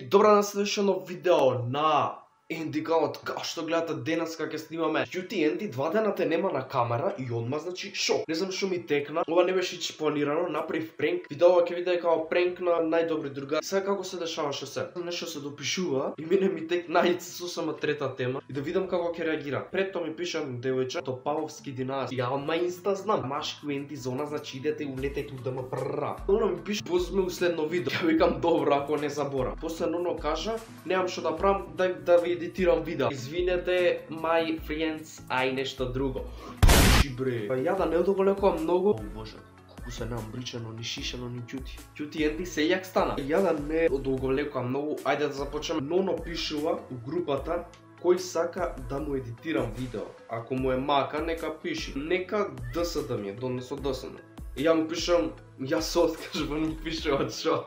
добра на следешно видео на Енди Галот, као што гледате денес како ќе снимаме. Јути Енди 2 дена те нема на камера и одма значи шок. Не знам што ми текна. Ова не беше планирано, направив пренк. Видео ќе биде као пренк на најдобри другари. Сега како се дешаваше се? Нешто се допишува и мене ми текна сосема трета тема и да видам како ќе реагира. Пред тоа ми пиша девојче Топаловски династија. Ја ма инста знам. Машки Енди зона значи идете и улетете да ме прра. Оно ми пише позме у следно видео. Ја викам добро ако не заборам. После оно кажа немам што да правам, дај да ви едитирам видео. Извинете, my friends, ај нешто друго. Пуши бре. Ја да не одоголекувам многу. О боже, колку се неамбричено, ни шишено, ни ќути. Ќути Енди сејак стана. Ја да не одоголекувам многу, ајде да започнеме. Ноно пишува у групата кој сака да му едитирам видео. Ако му е мака, нека пиши. Нека ДС да ми е, донесо ДС. Ја му пишам, ја се откажувам, му пишува шо.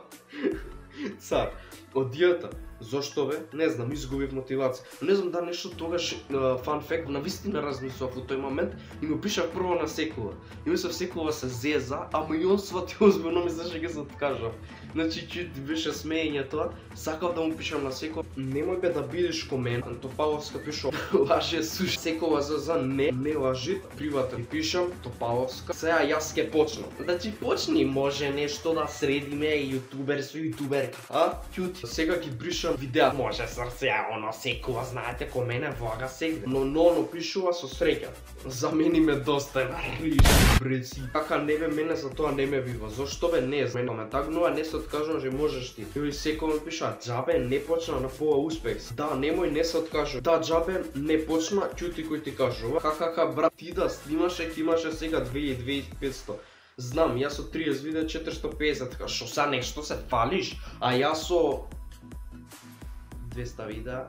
Цар, одијата. Зошто бе? Не знам, изгубив мотивација. Не знам да нешто тогаш фан факт, навистина размислував во тој момент и му пишав прво на Секова. И мислев Секова се зеза, ама и он свати озбилно мислеше ќе се откажав. Значи чути беше смеење тоа, сакав да му пишам на Секова. Немој бе да бидеш ко мен. Топаловска пишува лаже суш. Секова за не лажи, приватен. И пишам Топаловска. Сега јас ќе почнам. Значи почни, може нешто да средиме јутубер со јутуберка. А? Ќути. Сега ги бришам видеа. Може срце, оно Секова, знаете, ко мене влага сегде. Но пишува со среќа. За мене ме доста риш, бреци. Така не бе, мене за тоа не ме бива. Зошто бе не? Мене ме тагнува, не се откажувам, че можеш ти. Или Секова ме пиша, џабе не почна на пола успех. Да, немој не се откажувам. Да, џабе не почна, ќути кој ти кажува. Ха, брат, ти да снимаше, ќе имаше сега 2500. Знам, јас со 30 видео 450, така шо са нешто се фалиш, а јас со 200 видеа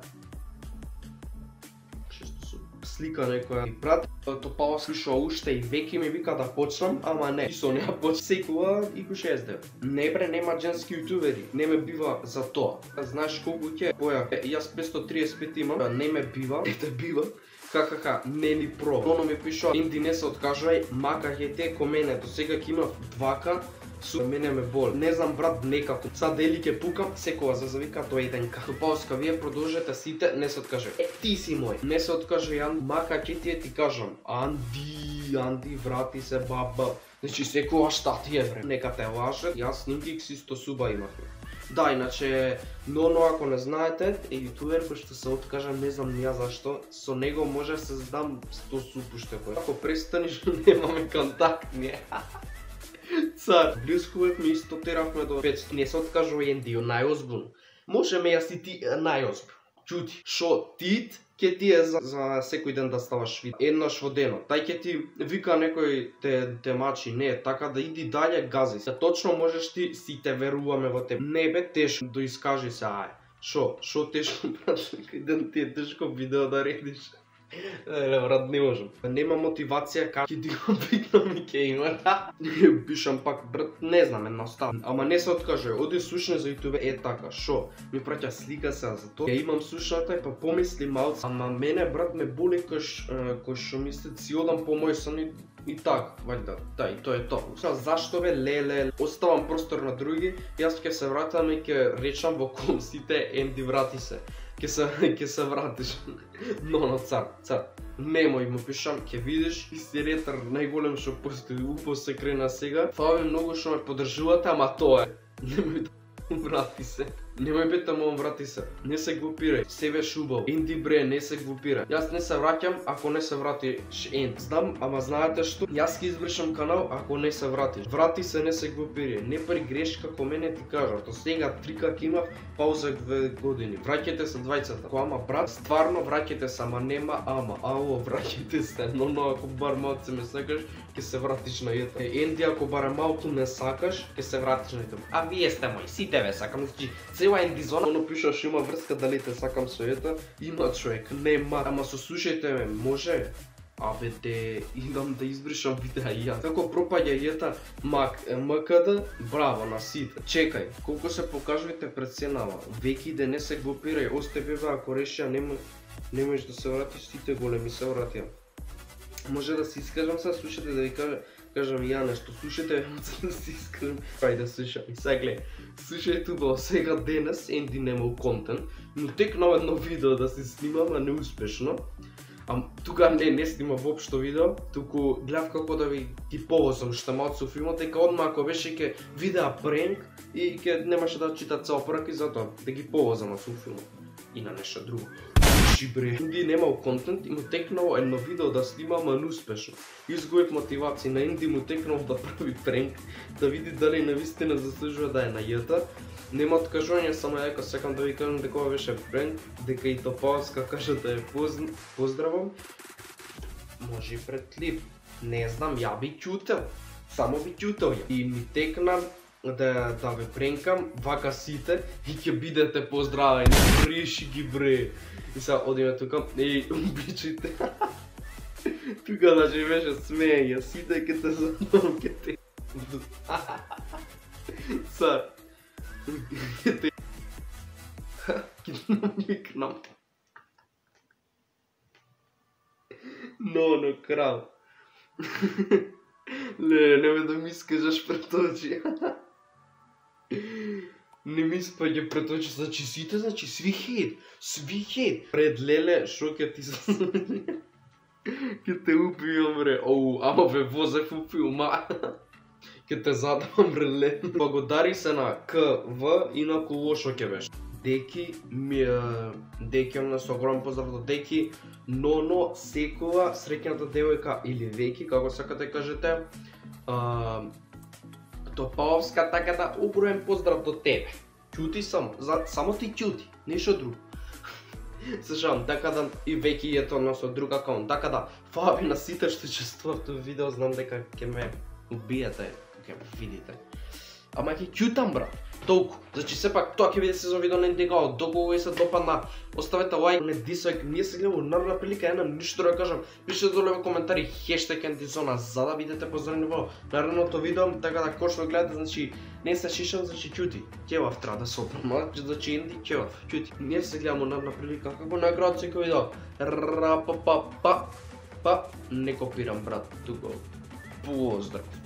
600 слика некоја и прат. Топала слушува уште и веќе ми вика да почнам, ама не. И со неа почна Секова и го 60. Не бре, нема женски јутубери, не ме бива за тоа. Знаеш колку ќе поја? Јас 535 имам, не ме бива, ете бива. Ха, не ни про. Оно ми пишува, Енди не се откажувај, мака ќе те ко мене, до сега ќе имав 2К, со мене ме боли. Не знам брат, некако. Са дели ќе пукам, Секова за завика тоа еденка. Топаловска, вие продолжете сите, не се откажувај. Ти си мој. Не се откажувај, мака ќе ти кажам. Анди, врати се баба. Значи Секова шта ти е бре. Нека те лаже, јас снимки си 100 суба имавме. Да, иначе, но ако не знаете, е јутубер кој што се откажа, не знам ја зашто, со него може да се здам 100 суб уште кој. Ако престанеш, немаме контактни. Цар, блискувавме и исто теравме до 500. Не се откажува Енди, најозбилно. Можеме јас и ти најозбилно. Ќути, шо тит ќе ти е за секој ден да ставаш видео. Еднаш во денот. Тај ќе ти вика некој те мачи, не, така да иди дале, гази се. Точно можеш ти, сите веруваме во тебе. Не бе тешко, да искажи се, ај. Шо тешко, брат, некој ден ти е тешко видео да редиш. Брат, не можам. Нема мотивација, како ќе ти го викнам и ќе има. Пишам пак, брат, не знам, едноставно. Ама не се откаже, оди слушне за јутубе, така, шо? Ми праќа слика се за тоа. Ја имам слушната и па помисли малце. Ама мене, брат, ме боли кој што мислят си одам по мој сон и така, вајда, да, и тоа е тоа. Зашто бе, леле, оставам простор на други, јас ќе се вратам и ќе речам во комсите, Енди врати се. Ќе се вратиш. Но, цар, немој му пишам, ќе видиш, ти си ретар најголем што постои, упо се крена сега. Фала ви многу што ме поддржувате, ама тоа е. Немој да врати се. Немој бета му врати се. Не се глупирај. Себе шубав. Енди бре, не се глупирај. Јас не се враќам ако не се вратиш Енди. Знам, ама знаете што? Јас ќе избришам канал ако не се вратиш. Врати се, не се глупирај. Не при грешка како мене ти кажав. До сега 3К имав, пауза 2 години. Враќате се двајцата. Ама брат, стварно враќате се, ама нема ама. Ало, враќате се. Но ако бар малце ме сакаш, ќе се вратиш на јета. Енди, ако барем малку не сакаш, ќе се вратиш на јета. А вие сте мои, сите ве сакам. Цела Енди зона, оно пишаш има врска дали те сакам со јета, има човек, нема. Ама сослушајте ме, може? Абе де, идам да избришам видеа и јас. Како пропаѓа јета, МКД, браво на сите. Чекај, колку се покажувате пред сенава, веќе да не се глупирај, осте бебе, ако решија немојш да се вратиш, сите големи се вратија. Може да се искажам сега, слушате да ви кажа, кажам ја нешто, слушајте, да се искрен, ајде слушај, сега гледај, слушај тубаво, сега денес Енди немал контент, но текнал едно видео да се снимам, а неуспешно, а тука не снима воопшто видео, туку гледав како да ви ги повозам штамот со филмот, дека одма ако беше ке видеа пренк и ке немаше да чита цел прак и затоа да ги повозам со филмот и на нешто друго. Бре, Енди немал контент и му текнало едно видео да снима, ама неуспешно. Изгубив мотивација, на Енди му текнало да прави пренк, да види дали навистина заслужува да е на јата. Нема откажување, само дека сакам да ви кажам дека ова беше пренк, дека и Топалска кажа да е поздравам. Може и пред клип, не знам, ја би ќутел, само би ќутел ја. И ми текна да ве пренкам, вака сите и ќе бидете поздравени, реши ги бре. И сега одиме тука, обичајте. Тука да живеше смеја, сите ке те задам, ке те... Са... Ке те... Ке намикнам. Но крал. Немој да ми искажаш пред очи. Не ми спаѓа пред очи, значи сите, значи сви хейт. Пред Леле, шо ке ти ке те убијам бре, ама ве возев у филма. Ке те задам бре Леле. Благодари се на КВ и на Кулошо ке беше. Деки, на со огромен поздрав до Деки, Ноно, Секова, среќната девојка или Веки, како сакате кажете. Топаловска, така да огромен поздрав до тебе. Ќути само ти ќути, нешто друго. Се шалам, така да и Веки ето на со друг акаунт, така да фала ви на сите што учествував во видео, знам дека ќе ме убиете, ќе ме видите. Ама ќе ќутам брат, толку. Значи сепак тоа ќе биде сезон видео на Индигао, доколку ви се допадна, оставете лайк, не дислайк, ние се гледаме нарна прилика, една ништо да кажам, пишете долу во коментари хештег Ендизона за да бидете поздравени во наредното видео, така да кој што гледате, значи не се шишам, значи ќути, ќелав треба да се опрема, значи Енди ќелав, ќути. Ние се гледаме нарна прилика, како на крајот секој видео, па, не копирам брат, тука, поздрав.